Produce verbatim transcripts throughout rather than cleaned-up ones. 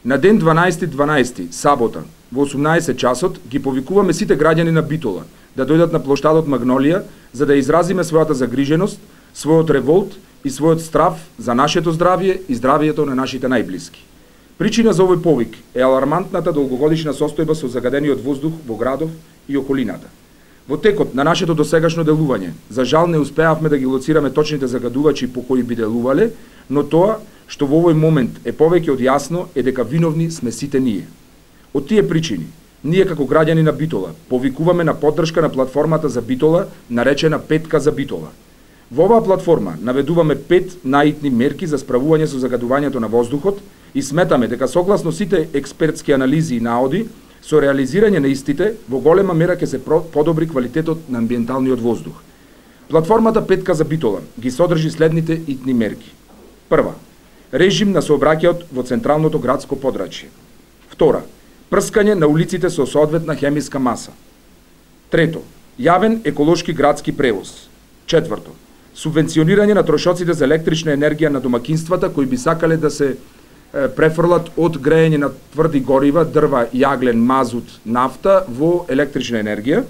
На ден дванаесети дванаесети, сабота, во осумнаесет часот, ги повикуваме сите граѓани на Битола да дојдат на плоштадот Магнолија за да изразиме својата загриженост, својот револт и својот страв за нашето здравје и здравјето на нашите најблиски. Причина за овој повик е алармантната долгогодишна состојба со загадениот воздух во градов и околината. Во текот на нашето досегашно делување, за жал не успеавме да ги лоцираме точните загадувачи по кои би делувале, но тоа што во овој момент е повеќе од јасно е дека виновни сме сите ние. Од тие причини, ние како граѓани на Битола повикуваме на поддршка на платформата за Битола, наречена Петка за Битола. Во оваа платформа наведуваме пет наитни мерки за справување со загадувањето на воздухот и сметаме дека согласно сите експертски анализи и наоди, со реализирање на истите, во голема мера ќе се подобри квалитетот на амбиенталниот воздух. Платформата Петка за Битола ги содржи следните итни мерки. Прва, режим на сообраќајот во централното градско подрачје. Втора, прскање на улиците со соодветна хемиска маса. Трето, јавен еколошки градски превоз. Четврто, субвенционирање на трошоците за електрична енергија на домакинствата кои би сакале да се префрлат од грејење на тврди горива, дрва, јаглен, мазут, нафта во електрична енергија.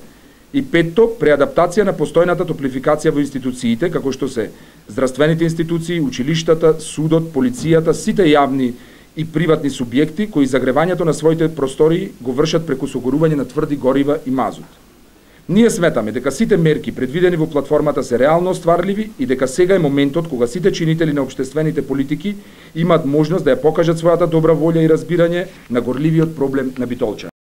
И петто, преадаптација на постојната топлификација во институциите, како што се здравствените институции, училиштата, судот, полицијата, сите јавни и приватни субјекти кои загревањето на своите простории го вршат преку согорување на тврди горива и мазут. Ние сметаме дека сите мерки предвидени во платформата се реално остварливи и дека сега е моментот кога сите чинители на општествените политики имаат можност да ја покажат својата добра волја и разбирање на горливиот проблем на Битолчани.